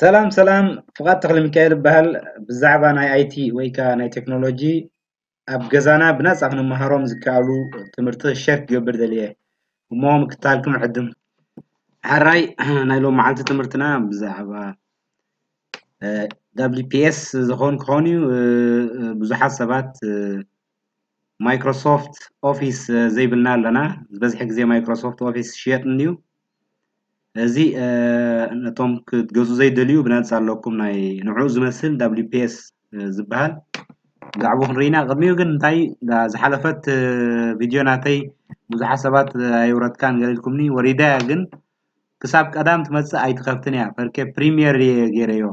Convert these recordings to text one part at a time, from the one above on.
ሰላም ሰላም፣ ፍቓድ ተኽለሚካኤል እበሃል። ብዛዕባ ናይ ኣይ ቲ ወይ ከኣ ናይ ቴክኖሎጂ ኣብ ገዛና ብናጻ ክንመሃሮም ዝከኣሉ ትምህርቲ ሸር ክገብር ደልየ እሞ ምክታልኩም ዕድም። ሕራይ ናይ ሎም መዓልቲ ትምህርትና ብዛዕባ ደብሊው ፒ ኤስ ዝኾን ክኾን እዩ። ብዙሓት ሰባት ማይክሮሶፍት ኦፊስ ዘይብልና ኣለና። ዝበዝሐ ግዜ ማይክሮሶፍት ኦፊስ ሽየጥ እንድዩ። እዚ ነቶም ክትገዙ ዘይደልዩ ብነጻ ኣለኩም ናይ ንዑ ዝመስል ደብሊው ፒ ኤስ ዝበሃል። ብዛዕባኡ ክንርኢና ቅድሚኡ ግን እንታይ ዝሓለፈት ቪድዮ ናተይ ብዙሓት ሰባት ኣይውረድካን ገለ ኢልኩምኒ። ወሪዳ ግን ክሳብ ቀዳም ትመጽእ ኣይትኸፍትን እያ። ፈርኬ ፕሪሚየር እየ ገይረዮ።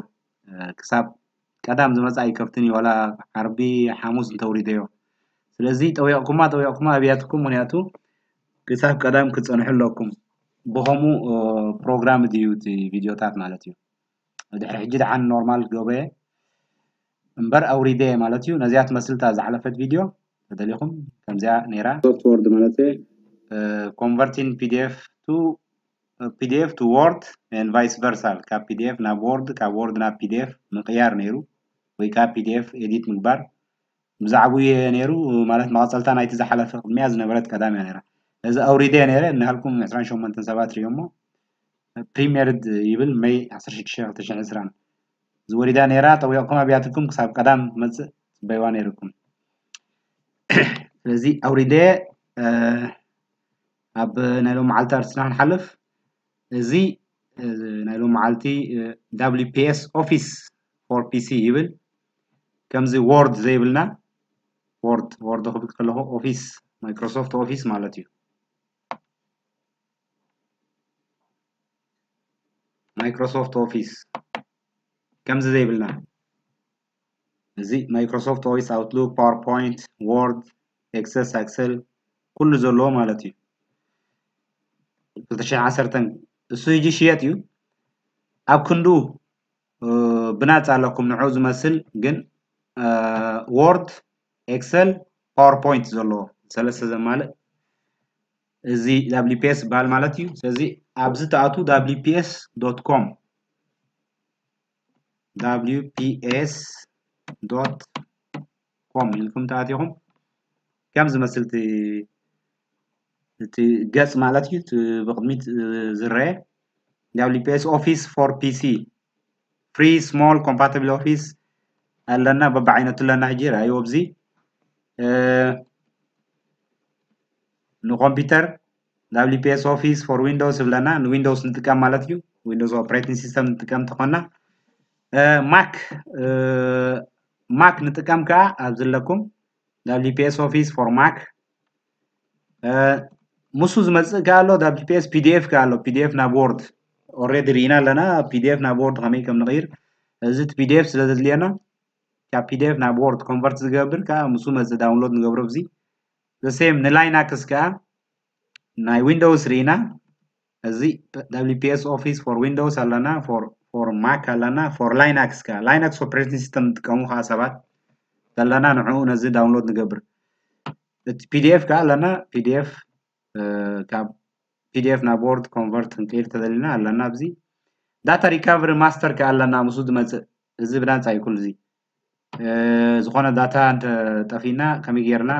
ክሳብ ቀዳም ዝመጽእ ኣይከፍትን እዩ። ዋላ ዓርቢ ሓሙስ እንተውሪደዮ። ስለዚ ጠዊቕኩማ ጠዊቕኩማ ኣብያትኩም፣ ምክንያቱ ክሳብ ቀዳም ክጸንሑ ኣለኩም። ብኸምኡ ፕሮግራም ድዩ እቲ ቪድዮታት ማለት እዩ። ድሕሪ ሕጂ ደሓን ኖርማል ገበየ እምበር ኣውሪደ ማለት እዩ። ነዚኣ ትመስል እታ ዝሓለፈት ቪድዮ ተደሊኹም ከምዚኣ ነይራ። ሶፍት ወርድ ማለት ኮንቨርቲንግ ፒ ዲ ኤፍ ቱ ፒ ዲ ኤፍ ቱ ወርድ ኤንድ ቫይስ ቨርሳ፣ ካብ ፒ ዲ ኤፍ ናብ ወርድ፣ ካብ ወርድ ናብ ፒ ዲ ኤፍ ምቕያር ነይሩ፣ ወይ ካብ ፒ ዲ ኤፍ ኤዲት ምግባር። ብዛዕባኡ እየ ነይሩ፣ ማለት መቐጸልታ ናይቲ ዝሓለፈ ቅድሚያ ዝነበረት ቀዳም እያ ነይራ። እዚ ኣውሪደ ነይረ እናሃልኩም ዕስራን ሸሞንተን ሰባት ርእዮሞ። ፕሪሚየርድ ይብል መይ ዓሰርተ ሽዱሽተ ክልተ ሽሕን ዕስራን ዝወሪዳ ነይራ። ጠዊቕኩም ኣብያትኩም ክሳብ ቀዳም ትመጽእ ጽበይዋ ነይርኩም። ስለዚ ኣውሪደ ኣብ ናይ ሎም መዓልቲ ኣርስትና ክንሓልፍ። እዚ ናይ ሎም መዓልቲ ደብሊው ፒ ኤስ ኦፊስ ፎር ፒ ሲ ይብል። ከምዚ ወርድ ዘይብልና፣ ወርድ፣ ወርድ ክብል ከለኹ ኦፊስ፣ ማይክሮሶፍት ኦፊስ ማለት እዩ። ማይክሮሶፍት ኦፊስ ከምዚ ዘይብልና፣ እዚ ማይክሮሶፍት ኦፊስ፣ ኣውትሉክ፣ ፓወርፖይንት፣ ወርድ፣ ኤክሰስ፣ ኣክሰል ኩሉ ዘለዎ ማለት እዩ። ክልተ ሽሕን ዓሰርተን እሱ ሕጂ ሽየጥ እዩ። ኣብ ክንዱ ብናጻ ኣለኩም ንዑ ዝመስል፣ ግን ወርድ፣ ኤክሰል፣ ፓወርፖይንት ዘለዎ ሰለስተ ዘማልእ እዚ ደብሊው ፒ ኤስ ዝበሃል ማለት እዩ። ስለዚ ኣብዚ ትኣትዉ ደብሊው ፒ ኤስ ዶት ኮም፣ ደብሊው ፒ ኤስ ዶት ኮም ኢልኩም ተኣቲኹም ከም ዝመስል እቲ፣ እቲ ገጽ ማለት እዩ። እቲ ብቕድሚት ዝረአ ደብሊው ፒ ኤስ ኦፊስ ፎር ፒ ሲ፣ ፍሪ ስሞል ኮምፓቲብል ኦፊስ ኣለና፣ በብዓይነቱ ኣለና። ሕጂ ረኣይዎ ኣብዚ ንኮምፒውተር ደብሊው ፒ ኤስ ኦፊስ ፎር ዊንዶውስ ይብለና፣ ንዊንዶውስ ንጥቀም ማለት እዩ። ዊንዶውስ ኦፕሬቲንግ ሲስተም ንጥቀም ተኾና። ማክ፣ ማክ ንጥቀም ከኣ ኣብዚ ኣለኩም፣ ደብሊው ፒ ኤስ ኦፊስ ፎር ማክ። ምስ ዝመጽእ ከኣ ኣሎ ደብሊው ፒ ኤስ ፒ ዲ ኤፍ ከኣ ኣሎ፣ ፒ ዲ ኤፍ ናብ ወርድ ኦልሬዲ ርኢና ኣለና፣ ፒ ዲ ኤፍ ናብ ወርድ ከመይ ከም ንቕይር። እዚ እቲ ፒ ዲ ኤፍ ስለ ዘድልየና፣ ካብ ፒ ዲ ኤፍ ናብ ወርድ ኮንቨርት ዝገብር ከኣ ምስ መጽእ ዳውንሎድ ንገብሮ። እዚ ዘ ሴም ንላይናክስ ከኣ ናይ ዊንዶውስ ርኢና፣ እዚ ደብሊው ፒ ኤስ ኦፊስ ፎር ዊንዶውስ ኣለና፣ ፎር ማክ ኣለና፣ ፎር ላይናክስ ከኣ፣ ላይናክስ ኦፕሬቲንግ ሲስተም ዝጥቀሙ ከኣ ሰባት ዘለና፣ ንዕኡ ነዚ ዳውንሎድ ንገብር። እቲ ፒ ዲ ኤፍ ከኣ ኣለና፣ ፒ ዲ ኤፍ ካብ ፒ ዲ ኤፍ ናብ ወርድ ኮንቨርት ክንቅይር ተደሊና ኣለና። ኣብዚ ዳታ ሪካቨሪ ማስተር ከኣ ኣለና፣ ምስኡ ዝመጽእ፣ እዚ ብናጻ እዩ ኩሉ እዚ። ዝኾነ ዳታ እንተ ጠፊእና ከመይ ጌርና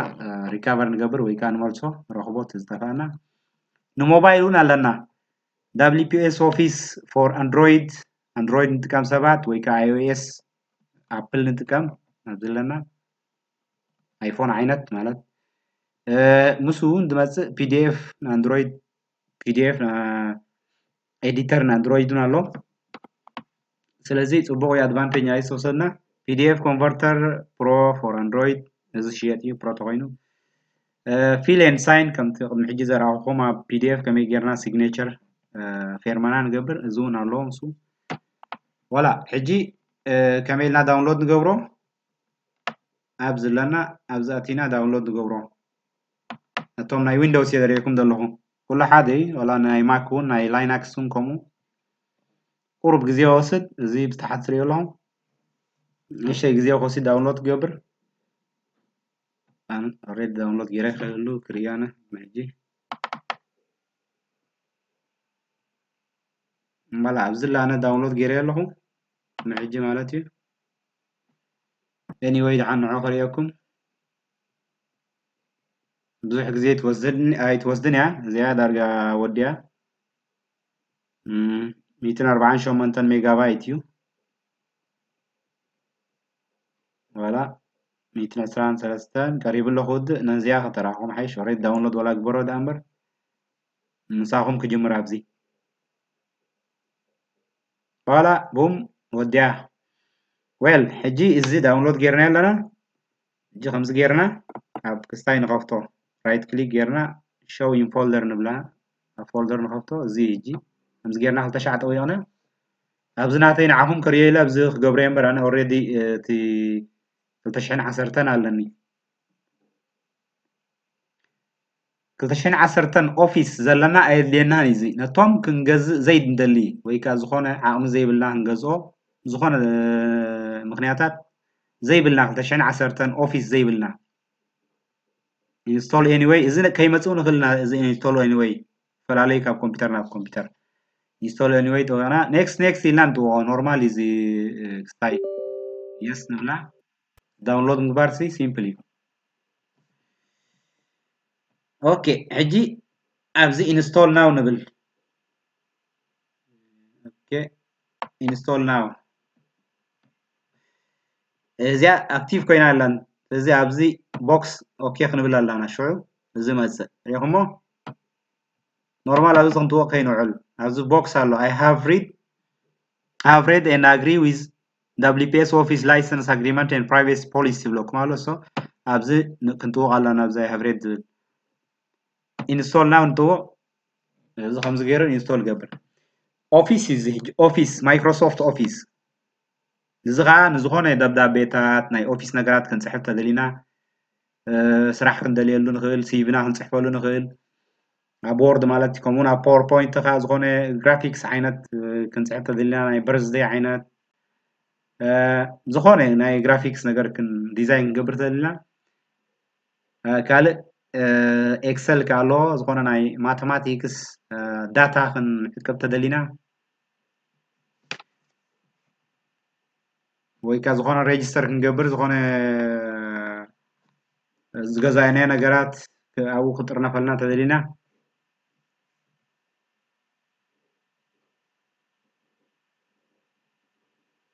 ሪካቨር ንገብር ወይ ከኣ ንመልሶ፣ ንረኽቦ እቲ ዝጠፋእና። ንሞባይል እውን ኣለና፣ ደብሊው ፒ ኤስ ኦፊስ ፎር ኣንድሮይድ፣ ኣንድሮይድ ንጥቀም ሰባት ወይ ከኣ ኣይ ኦ ኤስ፣ ኣፕል ንጥቀም ኣብዚ ኣለና፣ ኣይፎን ዓይነት ማለት። ምስኡ እውን ዝመጽእ ፒ ዲ ኤፍ ንኣንድሮይድ፣ ፒ ዲ ኤፍ ኤዲተር ንኣንድሮይድ እውን ኣሎ። ስለዚ ጽቡቕ እዩ፣ ኣድቫንቴጅ ናይ ዝተወሰድና። ፒ ዲ ኤፍ ኮንቨርተር ፕሮ ፎር ኣንድሮይድ፣ እዚ ሽየጥ እዩ ፕሮ ተኾይኑ። ፊል ኤንድ ሳይን ከምቲ ቅድሚ ሕጂ ዘርኣኹኹም ኣብ ፒ ዲ ኤፍ ከመይ ጌርና ሲግኔቸር ፌርማና ንገብር፣ እዚ እውን ኣሎ ምስኡ። ዋላ ሕጂ ከመይ ኢልና ዳውንሎድ ንገብሮ? ኣብዚ ኣለና፣ ኣብዚ ኣቲና ዳውንሎድ ንገብሮ። ነቶም ናይ ዊንዶውስ እየ ዘርእየኩም ዘለኹ። ኩሉ ሓደ እዩ፣ ዋላ ናይ ማክ እውን ናይ ላይናክስ እውን ከምኡ። ቁሩብ ግዜ ይወስድ፣ እዚ ብታሕቲ ትርእዩ ኣለኹም። ንእሽተይ ግዜ ክወስድ ዳውንሎድ ክገብር። ኣነ ኦልሬዲ ዳውንሎድ ገይረ ክህሉ ክርእዮ ኣነ ሕጂ። እምበላ ኣብዚ ኣነ ዳውንሎድ ገይረ ኣለኹ። ሕጂ ማለት እዩ። Anyway፣ ደሓን ንዑ ከርእየኩም። ብዙሕ ግዜ ኣይትወስድን እያ እዚኣ፣ ዳርጋ ወዲያ። ሚእትን ኣርባዓን ሸሞንተን ሜጋባይት እዩ። ዋላ ሚእትን ዕስራን ሰለስተን ቀሪቡ ኣሎ ክውድእ። ነዚኣ ከተራኹም ሓይሽ። ኦሬዲ ዳውንሎድ ዋላ ግበሮ ደኣ እምበር፣ ምሳኹም ክጅምር ኣብዚ። ዋላ ቡም ወዲያ። ዌል፣ ሕጂ እዚ ዳውንሎድ ጌርና ኣለና። ሕጂ ከምዚ ጌርና ኣብ ክስታይ ንኸፍቶ፣ ራይት ክሊክ ጌርና ሾው ኢን ፎልደር ንብላ። ኣብ ፎልደር ንኸፍቶ። እዚ ሕጂ ከምዚ ጌርና ክልተ ሻዕ ጠዊቕና፣ ኣብዚ ናተይ ንዓኹም ከርእዮ ኢለ ኣብዚ ክገብሮ እየ እምበር፣ ኣነ ኦሬዲ እቲ ክልተ ሽሕን ዓሰርተን ኣለኒ። ክልተ ሽሕን ዓሰርተን ኦፊስ ዘለና ኣየድልየናን እዩ። እዚ ነቶም ክንገዝእ ዘይንደሊ ወይ ከዓ ዝኾነ ዓቕሚ ዘይብልና ክንገዝኦ፣ ዝኾነ ምኽንያታት ዘይብልና፣ ክልተ ሽሕን ዓሰርተን ኦፊስ ዘይብልና፣ ኢንስቶል ኤኒወይ፣ እዚ ከይመፅኡ ንኽእል ኢና። እዚ ኢንስቶል ኤኒወይ ፈላለዩ ካብ ኮምፒውተር ናብ ኮምፒውተር። ኢንስቶል ኤኒወይ ጥወና፣ ኔክስት ኔክስት ኢልና ንጥወኦ። ኖርማል እዚ ክስታይ የስ ንብላ። ዳውንሎድ ምግባር ሲ ሲምፕል እዩ። ኦኬ፣ ሕጂ ኣብዚ ኢንስቶል ናው ንብል። ኦኬ፣ ኢንስቶል ናው። እዚኣ ኣክቲቭ ኮይና ኣላን። እዚ ኣብዚ ቦክስ ኦኬ ክንብል ኣላና። ሽዑ እዚ መጽእ ሪኹሞ። ኖርማል ኣብዚ ክንጥወቕ ከይንውዕል ኣብዚ ቦክስ ኣሎ። I have read, I have read and agree with W P S Office License Agreement and Privacy Policy ይብለኩም ኣሎ። So ኣብዚ ክንጥወቕ ኣለና። ኣብዚ I have read ዝብል ኢንስቶል ናው ንጥወቕ። እዚ ከምዚ ገይሩ ኢንስቶል ገብር። ኦፊስ እዩ እዚ ሕጂ፣ ኦፊስ፣ ማይክሮሶፍት ኦፊስ። እዚ ኸዓ ንዝኾነ ደብዳቤታት፣ ናይ ኦፊስ ነገራት ክንጽሕፍ ተደሊና፣ ስራሕ ክንደልየሉ ንኽእል፣ ሲቪና ክንጽሕፈሉ ንኽእል። ኣብ ወርድ ማለት እዩ። ከምኡውን ኣብ ፓወርፖይንት ኸዓ ዝኾነ ግራፊክስ ዓይነት ክንጽሕፍ ተደሊና፣ ናይ በርዝደይ ዓይነት፣ ዝኾነ ናይ ግራፊክስ ነገር ዲዛይን ክንገብር ተደሊና፣ ካልእ ኤክሰል ከ ኣሎ፣ ዝኾነ ናይ ማተማቲክስ ዳታ ክንዕቅብ ተደሊና፣ ወይ ከ ዝኾነ ሬጅስተር ክንገብር፣ ዝኾነ ዝገዛእናዮ ነገራት ኣብኡ ክጥርነፈልና ተደሊና፣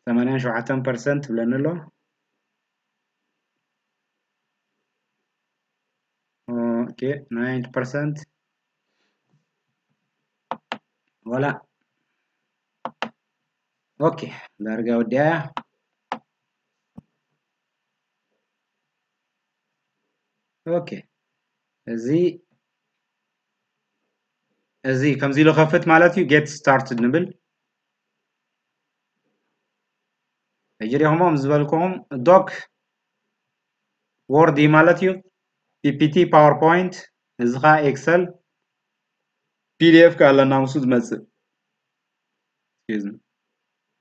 ሰማንያን ሸውዓተን ፐርሰንት ብለኒ ኣሎ። ኦኬ፣ ናይንቲ ፐርሰንት ዋላ። ኦኬ፣ ዳርጋ ወዲያ። ኦኬ፣ እዚ እዚ ከምዚ ኢሉ ከፍት ማለት እዩ። ጌት ስታርትድ ንብል። ሕጂ ሪኹሞ ምስ ዝበልኩኹም ዶክ ወርድ እዩ ማለት እዩ። ፒ ፒ ቲ፣ ፓወርፖይንት፣ እዚ ኸዓ ኤክሰል፣ ፒ ዲ ኤፍ ከ ኣለና ምስኡ ዝመጽእ።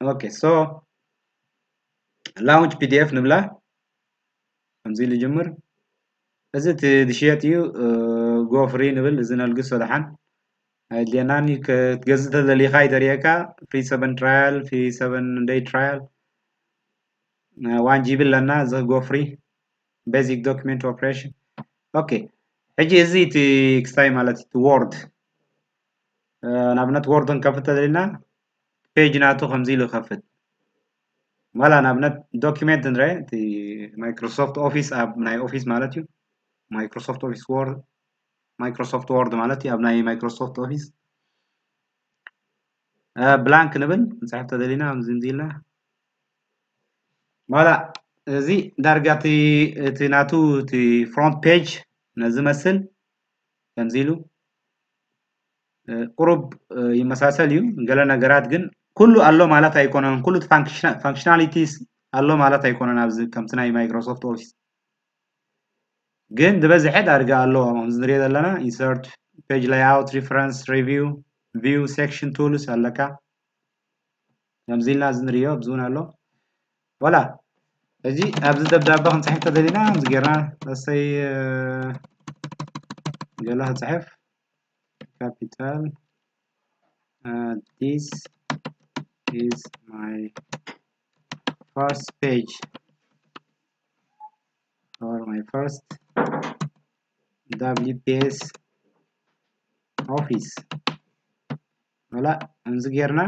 ኦኬ፣ ሶ ላውንች ፒ ዲ ኤፍ ንብላ። ከምዚ ኢሉ ጅምር። እዚ እቲ ዝሽየጥ እዩ። ጎ ፍሪ ንብል፣ እዚ ነልግሶ ደሓን። ኣየድልየናን እዩ። ክትገዝእ ተደሊኻ እዩ ተርእየካ። ፍሪ ሰቨን ትራያል፣ ፍሪ ሰቨን ደይ ትራያል። ዋን ጂ ቢ ኣለና፣ እዚ ጎ ፍሪ። ቤዚክ ዶክመንት ኦፕሬሽን። ኦኬ፣ ሕጂ እዚ እቲ ክስታይ ማለት እዩ፣ እቲ ወርድ። ንኣብነት ወርድ ክንከፍት ተደሊና፣ ፔጅ ናቱ ከምዚ ኢሉ ይኸፍት። ዋላ ንኣብነት ዶክመንት ንረ፣ እቲ ማይክሮሶፍት ኦፊስ ኣብ ናይ ኦፊስ ማለት እዩ። ማይክሮሶፍት ኦፊስ ወርድ፣ ማይክሮሶፍት ወርድ ማለት እዩ ኣብ ናይ ማይክሮሶፍት ኦፊስ። ብላንክ ንብል፣ ክንጽሕፍ ተደሊና፣ ከምዚ እንዚ ኢልና። ዋላ እዚ ዳርጋ እቲ፣ እቲ ናቱ፣ እቲ ፍሮንት ፔጅ ነዚ መስል፣ ከምዚ ኢሉ፣ ቁሩብ ይመሳሰል እዩ። ገለ ነገራት ግን ኩሉ ኣሎ ማለት ኣይኮነን። ኩሉ ፋንክሽናሊቲስ ኣሎ ማለት ኣይኮነን። ኣብዚ ከምቲ ናይ ማይክሮሶፍት ኦፊስ ግን ዝበዝሐ ዳርጋ ኣሎ። ከምዚ ንሪኦ ዘለና ኢንሰርት፣ ፔጅ ላይኣውት፣ ሪፈረንስ፣ ሪቪው፣ ቪው፣ ሴክሽን ቱልስ ኣለካ። ከምዚ ኢልና እዚ ንሪኦ ኣብዚ እውን ኣሎ። ዋላ ሕጂ ኣብዚ ደብዳበ ክንፅሕፍ ተደሊና ከምዚ ጌርና እሰይ ገለ ክፅሕፍ ካፒታል this is my first page or my first W P S office ወላ እንዚ ጌርና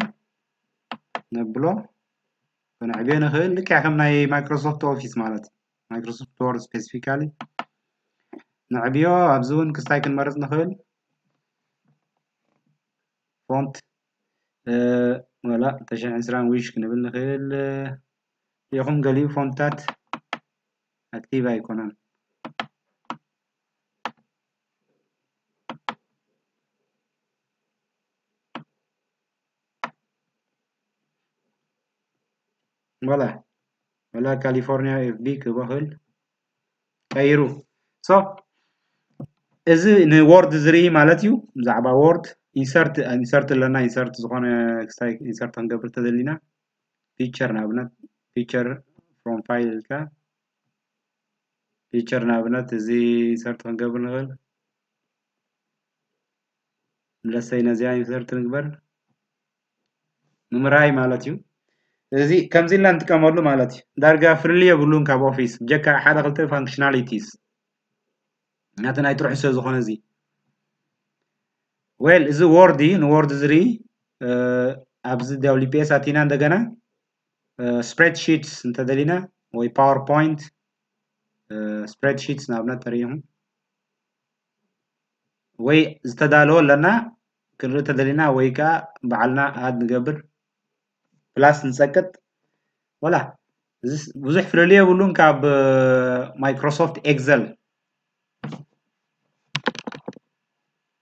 ነብሎ ከነዕብዮ ንኽእል ልክዕ ከም ናይ ማይክሮሶፍት ኦፊስ ማለት ማይክሮሶፍት ወርድ ስፔሲፊካሊ ነዕብዮ ኣብዚ እውን ክስታይ ክንመርፅ ንኽእል ፎንት ወላ ተሽዕን ዕስራን ዊሽ ክንብል ንኽእል ኢኹም። ገሊኡ ፎንትታት ኣክቲቭ ኣይኮነን። ወላ ወላ ካሊፎርኒያ ኤፍ ቢ ክበኽል ቀይሩ ሶ እዚ ንወርድ ዝርኢ ማለት እዩ። ብዛዕባ ወርድ ኢንሰርት ኢንሰርት ኣለና። ኢንሰርት ዝኾነ ክስታይ ኢንሰርት ክንገብር ተደሊና ፒክቸር ንኣብነት ፒክቸር ፍሮም ፋይል ኢልካ ፒክቸር ንኣብነት እዚ ኢንሰርት ክንገብር ንኽእል። ለሰይ ነዚኣ ኢንሰርት ንግበር ንምራይ ማለት እዩ። እዚ ከምዚ ኢልና ንጥቀመሉ ማለት እዩ። ዳርጋ ፍልልይ የብሉን ካብ ኦፊስ ብጀካ ሓደ ክልተ ፋንክሽናሊቲስ ናቲ ናይ ጥርሑ ስለ ዝኾነ እዚ ዌል እዚ ወርድ እዩ። ንወርድ ዝርኢ ኣብዚ ደብሊው ፒ ኤስ ኣቲና እንደገና ስፕሬድሺትስ እንተደሊና ወይ ፓወርፖይንት ስፕሬድሺትስ ንኣብነት ተሪኢኹም ወይ ዝተዳለወ ኣለና ክንርኢ ተደሊና ወይ ከዓ ባዕልና ኣድ ንገብር ፕላስ ንፀቅጥ ወላ ብዙሕ ፍልልይ የብሉን ካብ ማይክሮሶፍት ኤክሰል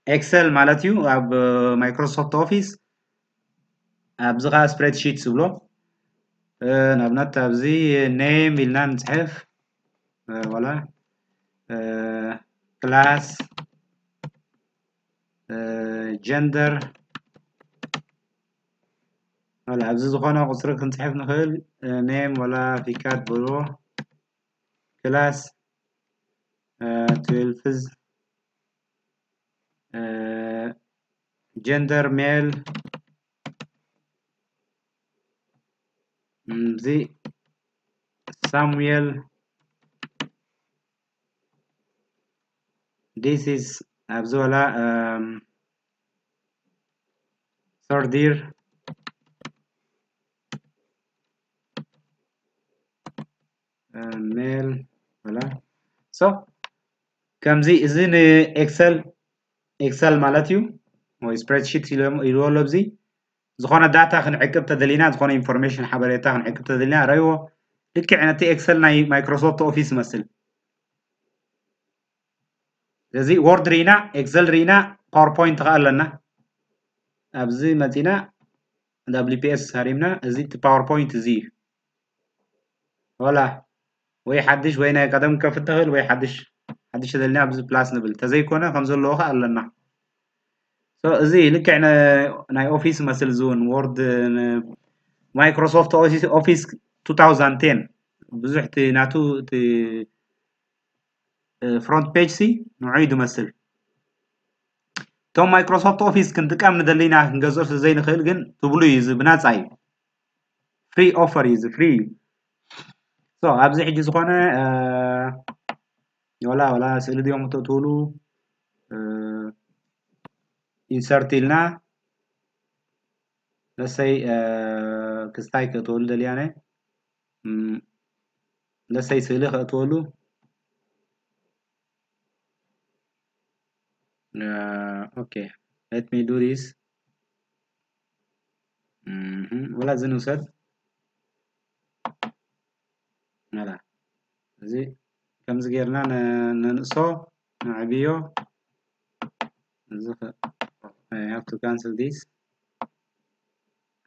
ኤክሰል ማለት እዩ ኣብ ማይክሮሶፍት ኦፊስ ኣብዚ ከዓ ስፕሬድሺት ዝብሎ ንኣብነት ኣብዚ ኔም ኢልና ንፅሕፍ ወላ ክላስ ጀንደር ወላ ኣብዚ ዝኾነ ቁፅሪ ክንፅሕፍ ንኽእል ኔም ወላ ፊካት ብሎ ክላስ ትዌልፍዝ ጀንደር ሜል እዚ ሳሙኤል this is ኣብዚ ወላ ሰርዲር ሜል ወላ ሶ ከምዚ እዚ ንኤክሰል ኤክሰል ማለት እዩ ወይ ስፕሬድሺት ኢልዎ ኣሎ። እዚ ዝኾነ ዳታ ክንዕቅብ ተደሊና ዝኾነ ኢንፎርሜሽን ሓበሬታ ክንዕቅብ ተደሊና ረይዎ ልክዕ ነቲ ኤክሰል ናይ ማይክሮሶፍት ኦፊስ ይመስል። ስለዚ ወርድ ርኢና ኤክሰል ርኢና ፓወርፖይንት ከዓ ኣለና። ኣብዚ መፂና ደብሊው ፒ ኤስ ሃሪምና እዚ እቲ ፓወርፖይንት እዚ እዩ። ወላ ወይ ሓድሽ ወይ ናይ ቀደም ከፍት ትኽእል ወይ ሓድሽ ሓድሽ ተደልና ኣብዚ ፕላስ ንብል ተዘይኮነ ከም ዘለዎ ከዓ ኣለና። እዚ ልክዕ ናይ ኦፊስ መስል ዝውን ወርድ ማይክሮሶፍት ኦፊስ ቱ ታውዘንድ ቴን ብዙሕ እቲ ናቱ እቲ ፍሮንት ፔጅ ሲ ንዑ እዩ ዝመስል። እቶም ማይክሮሶፍት ኦፊስ ክንጥቀም ንደሊና ክንገዝኦ ስለ ዘይንኽእል ግን ትብሉ እዩ እዚ ብናፃ እዩ። ፍሪ ኦፈር እዩ እዚ ፍሪ እዩ። ሶ ኣብዚ ሕጂ ዝኾነ ወላ ወላ ስእሊ ድዮም ክትእትውሉ ኢንሰርት ኢልና ለሰይ ክስታይ ክእትወሉ ደልያነ ለሰይ ስእሊ ክእትወሉ okay let me do this ወላ እዚ ንውሰድ መላ እዚ ከምዚ ጌርና ነንእሶ ነዕብዮ እዚ have to cancel this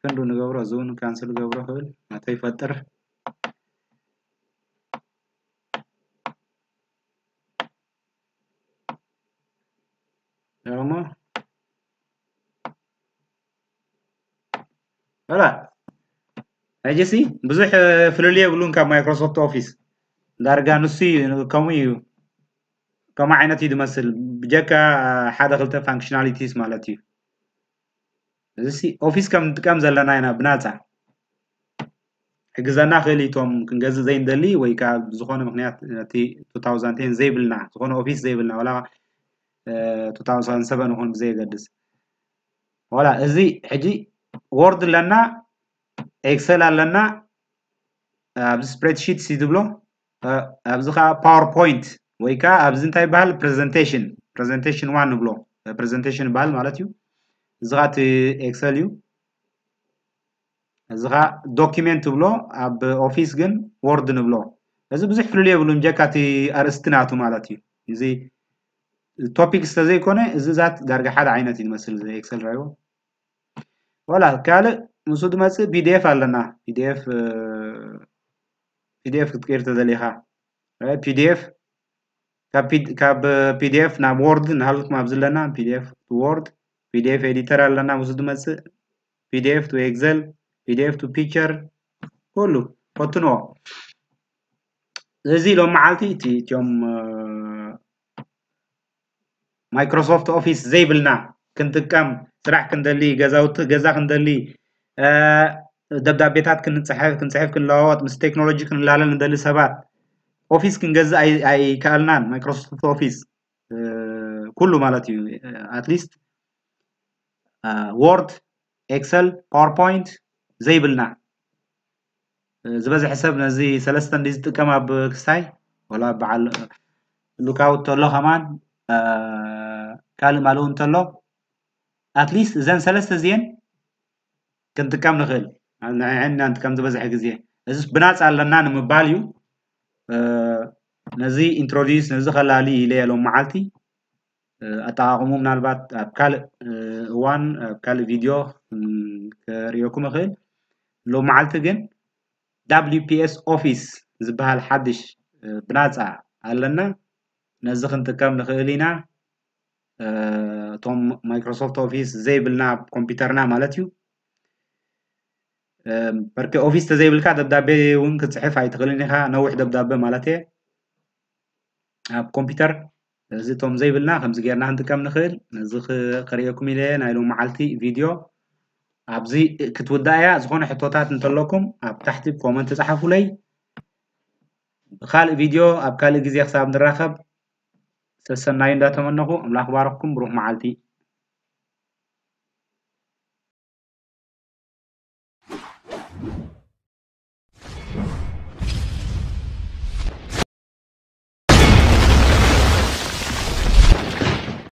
ክንዱ ንገብሮ እዚ እውን ካንስል ገብሮ ክብል ናተይ ፈጥር ደሞ ላ ሕጂ ሲ ብዙሕ ፍልልይ የብሉን ካብ ማይክሮሶፍት ኦፊስ ዳርጋ ንሱ ከምኡ እዩ። ከምኡ ዓይነት እዩ ዝመስል ብጀካ ሓደ ክልተ ፋንክሽናሊቲስ ማለት እዩ። እዚ ኦፊስ ከም ንጥቀም ዘለና ኢና ብናፃ ክሕግዘና ክእል እዩ። እቶም ክንገዝእ ዘይንደሊ ወይ ከዓ ብዝኾነ ምክንያት ነቲ two thousand ten ዘይብልና፣ ዝኾነ ኦፊስ ዘይብልና፣ ዋላ two thousand seven ይኹን ብዘየገድስ። ዋላ እዚ ሕጂ ወርድ ኣለና፣ ኤክሰል ኣለና፣ ኣብዚ ስፕሬድሺት ሲ ዝብሎ፣ ኣብዚ ከዓ ፓወርፖይንት ወይ ከዓ ኣብዚ እንታይ ይበሃል፣ ፕሬዘንቴሽን፣ ፕሬዘንቴሽን ዋን ንብሎ፣ ፕሬዘንቴሽን ይበሃል ማለት እዩ። እዚ ከዓ እቲ ኤክሰል እዩ። እዚ ከዓ ዶኪመንት ትብሎ፣ ኣብ ኦፊስ ግን ወርድ ንብሎ። እዚ ብዙሕ ፍልልይ የብሉን፣ ጀካ እቲ ኣርእስቲ ናቱ ማለት እዩ። እዚ ቶፒክ ስለዘይኮነ እዚ ዛት ዳርጋ ሓደ ዓይነት እዩ ዝመስል፣ እዚ ኤክሰል ራይዎ። ወላ ካልእ ምስኡ ዝመፅእ ፒዲኤፍ ኣለና። ፒዲኤፍ ፒዲኤፍ ክትቀይር ተደሊኻ ፒዲኤፍ ካብ ፒዲኤፍ ናብ ወርድ ንሃልኩም ኣብዚ ኣለና። ፒዲኤፍ ቱ ወርድ፣ ፒዲኤፍ ኤዲተር ኣለና። ምስኡ ዝመፅእ ፒዲኤፍ ቱ ኤክሰል፣ ፒዲኤፍ ቱ ፒክቸር፣ ኩሉ ፈትንዎ። እዚ ሎም መዓልቲ እቲ እቲኦም ማይክሮሶፍት ኦፊስ ዘይብልና ክንጥቀም፣ ስራሕ ክንደሊ፣ ገዛውቲ ገዛ ክንደሊ፣ ደብዳቤታት ክንፅሕፍ ክንፅሕፍ ክንለዋወጥ፣ ምስ ቴክኖሎጂ ክንላለል ንደሊ ሰባት ኦፊስ ክንገዝእ ኣይከኣልናን። ማይክሮሶፍት ኦፊስ ኩሉ ማለት እዩ። ኣትሊስት ወርድ፣ ኤክሰል፣ ፓወርፖይንት ዘይብልና ዝበዝሐ ሰብ ነዚ ሰለስተ እንዲ ዝጥቀም ኣብ ክስታይ ወላ በዓል ሉካውት ተሎ ከማን ካልእ ማልኡ እንተሎ ኣትሊስት እዘን ሰለስተ እዚአን ክንጥቀም ንኽእል። ንዕዕናን ከም ዝበዝሐ ግዜ እዚ ብናፃ ኣለና ንምባል እዩ። ነዚ ኢንትሮዲዩስ ነዚ ከላሊ ኢለ ሎም መዓልቲ ኣጠቓቕሙ ምናልባት ኣብ ካልእ እዋን ኣብ ካልእ ቪድዮ ከርእየኩም እኽእል። ሎም መዓልቲ ግን ዳብሊው ፒ ኤስ ኦፊስ ዝበሃል ሓድሽ ብናፃ ኣለና። ነዚ ክንጥቀም ንኽእል ኢና። እቶም ማይክሮሶፍት ኦፊስ ዘይብልና ኣብ ኮምፒውተርና ማለት እዩ። በርኪ ኦፊስ ተዘይብልካ ደብዳቤ እውን ክትፅሕፍ ኣይትኽእልን ኢኻ፣ ነዊሕ ደብዳቤ ማለት እየ። ኣብ ኮምፒውተር እዚ እቶም ዘይብልና ከምዚ ጌርና ክንጥቀም ንኽእል። ነዚ ከርእየኩም ኢለ ናይ ሎም መዓልቲ ቪድዮ ኣብዚ ክትውዳእ እያ። ዝኾነ ሕቶታት እንተለኩም ኣብ ታሕቲ ኮመንት ፃሓፉለይ። ብካልእ ቪድዮ ኣብ ካልእ ግዜ ክሳብ ንራኸብ ሰሰናዩ እንዳተመነኹ ኣምላኽ ባረኽኩም። ብሩኽ መዓልቲ።